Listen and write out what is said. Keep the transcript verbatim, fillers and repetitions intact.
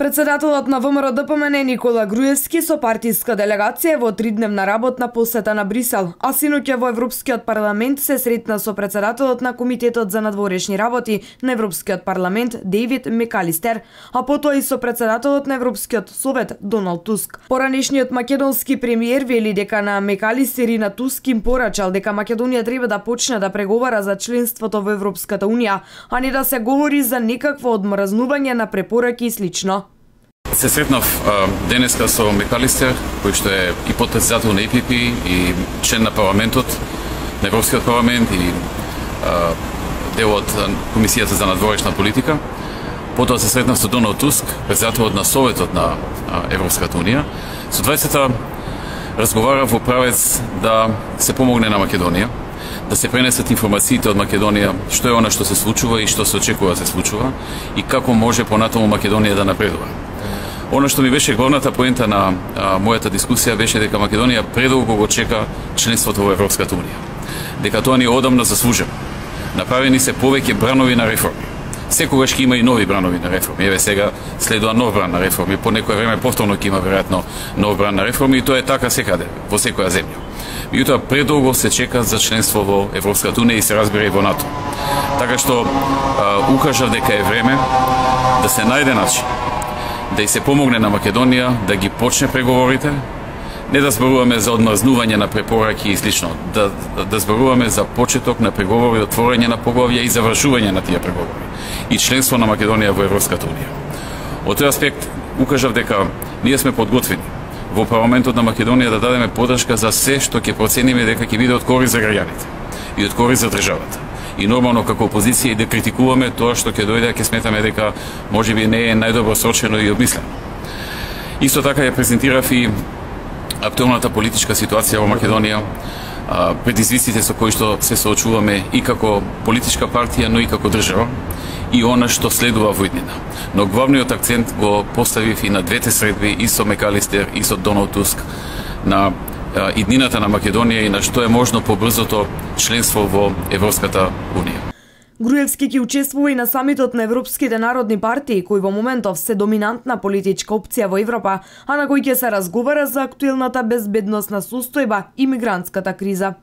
Председателот на ВМРО Д П М Н Никола Груевски со партиска делегација во тридневна работна посета на Брисел, а синоќа во Европскиот парламент се сретна со председателот на Комитетот за надворешни работи на Европскиот парламент Дейвид Мекалистер, а потоа и со председателот на Европскиот совет Доналд Туск. Поранешниот македонски премиер вели дека на Мекалистер и на Туск им порачал дека Македонија треба да почне да преговара за членството во Европската унија, а не да се говори за некакво одмразнување на препораки и слично. Се сретнав а, денеска со Мекалистер, кој што е и подпредседател на Е Пи Пи и член на парламентот, на Европскиот парламент и а, дел од Комисијата за надворешна политика. Потоа се сретнав со Доналд Туск, председателот на Советот на а, Европската унија. Со двајцата разговарав во правец да се помогне на Македонија, да се пренесат информациите од Македонија, што е она што се случува и што се очекува да се случува и како може понатаму Македонија да напредува. Оно што ми беше главната поента на а, мојата дискусија беше дека Македонија предолго го чека членството во Европската унија. Дека тоа ни одамна заслужено. Направени се повеќе бранови на реформи. Секогаш ќе има и нови бранови на реформи. Еве сега следува нов бран на реформи. По некое време повторно ќе има веројатно нов бран на реформи и тоа е така секаде, во секоја земја. Меѓутоа предолго се чека за членство во Европската унија и се разбира и во НАТО. Така што а, укажав дека е време да се најде начин да и се помогне на Македонија да ги почне преговорите, не да зборуваме за одмрзнување на препораки и слично, да, да зборуваме за почеток на преговори, отворање на поглавја и завршување на тие преговори и членство на Македонија во Европската унија. Од тој аспект укажав дека ние сме подготвени во парламентот на Македонија да дадеме поддршка за се што ќе процениме дека ќе биде од корист за граѓаните и од корист за државата. И нормално како опозиција и да критикуваме тоа што ќе дојде, ќе сметаме дека можеби не е најдобро срочено и обмислено. Исто така ја презентирав и актуелната политичка ситуација во Македонија, предизвиците со кои што се соочуваме и како политичка партија, но и како држава, и она што следува во иднина. Но главниот акцент го поставив и на двете средби, и со Мекалистер, и со Доналд Туск, на иднината на Македонија и на што е можно побрзото членство во Европската унија. Груевски ќе учествува и на самитот на Европските народни партии, кои во моментов се доминантна политичка опција во Европа, а на кој ќе се разговара за актуелната безбедносна состојба и мигрантската криза.